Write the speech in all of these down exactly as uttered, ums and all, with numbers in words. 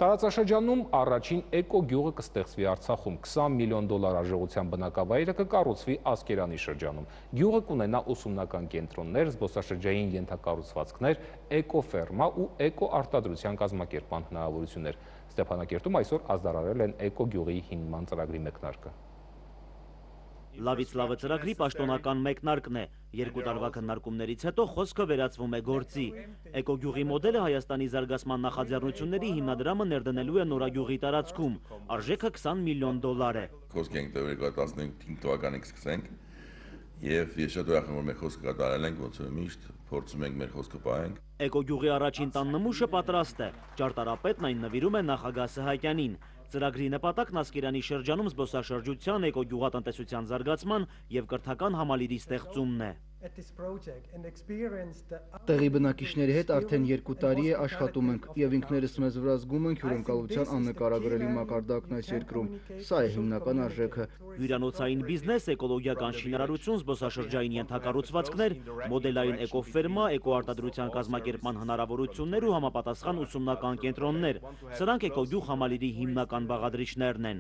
Տարածաշրջանում առաջին էկո գյուղը կստեղծվի Արցախում, քսան միլիոն դոլար արժողությամբ բնակավայրը կկառուցվի Ասկերանի շրջանում։ Գյուղը կունենա ուսումնական կենտրոններ, զբոսաշրջային ենթակառուցվածքներ, էկոֆերմա ու էկոարտադրության կազմակերպման հնարավորություններ։ Ստեփանակերտում այսօր ազդարարել են էկո գյուղի հիմնման ծրագրի մեկնարկը։ Լավից լավը ծրագրի պաշտոնական մեկնարկն է։ Երկու տարվա քննարկումներից հետո խոսքը վերածվում է գործի։ Էկոգյուղի մոդելը Հայաստանի զարգացման նախաձեռնությունների հիմնադրամը ներդնելու է Նորագյուղի տարածքում։ Արժեքը քսան միլիոն դոլար է։ Խոսք ենք տվել երկու հազար տասնհինգ թվականից սկսենք, եւ ես շատ ուրախ եմ, որ մեր խոսքը կատարել ենք, ոնց որ միշտ փորձում ենք մեր խոսքը պահենք։ Էկոգյուղի առաջին տան նմուշը պատրաստ է։ Ճարտարապետն այն նվիրում է նախագահ Սահակյանին։ Ծրագրի նպատակն Ասկերանի շրջանում զբոսաշրջության, էկոգյուղատնտեսության զարգացման եւ կրթական համալիրի ստեղծումն է։ Տեղի բնակիչների հետ արդեն երկու տարի է աշխատում ենք եւ ինքներս մեզ վրա զգում ենք հյուրընկալության աննկարագրելի մակարդակն այս երկրում։ Սա է հիմնական արժեքը։ Հյուրանոցային բիզնես, էկոլոգիական շինարարություն, զբոսաշրջային ենթակառուցվածքներ, մոդելային էկոֆերմա, էկոարտադրության կազմակերպման հնարավորություններ ու համապատասխան ուսումնական կենտրոններ։ Սրանք էկոգյուղ համալիրի հիմնական բաղադրիչներն են։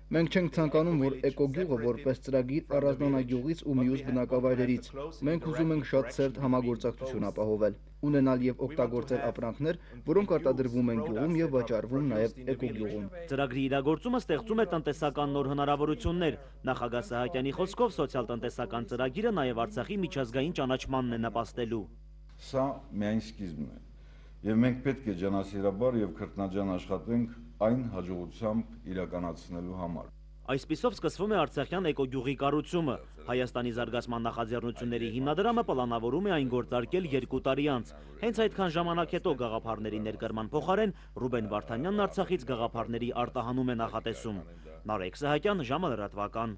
Մենք չենք ցանկանում, որ էկոգյուղը որպես ծրագիր առանձնանա գյուղից ու մյուս բնակավայրերից։ Մենք ուզում ենք շատ սերտ համագործակցություն ապահովել, ունենալ եւ օգտագործել ապրանքներ, որոնք արտադրվում են գյուղում եւ վաճառվում նաեւ էկոգյուղում։ Ծրագրի իրագործումը ստեղծում է տնտեսական նոր հնարավորություններ։ Նախագահ Սահակյանի խոսքով սոցիալ-տնտեսական ծրագիրը նաեւ Արցախի միջազգային ճանաչմանն է նպաստելու։ Սա միայն սկիզբն է։ Եվ մենք պետք է ջանասիրաբար եւ քրտնաջան աշխատենք այն հաջողությամբ իրականացնելու համար։ Այսպիսով սկսվում է Արցախյան էկոգյուղի կառուցումը։ Հայաստանի զարգացման նախաձեռնությունների հիմնադրամը պլանավորում է այն գործարկել երկու տարի անց։ Հենց այդքան ժամանակ հետո գաղափարների ներկրման փոխարեն Ռուբեն Վարդանյանն Արցախից գաղափարների արտահանում է նախատեսում։ Նարեկ Սահակյան, ժամը լրատվական։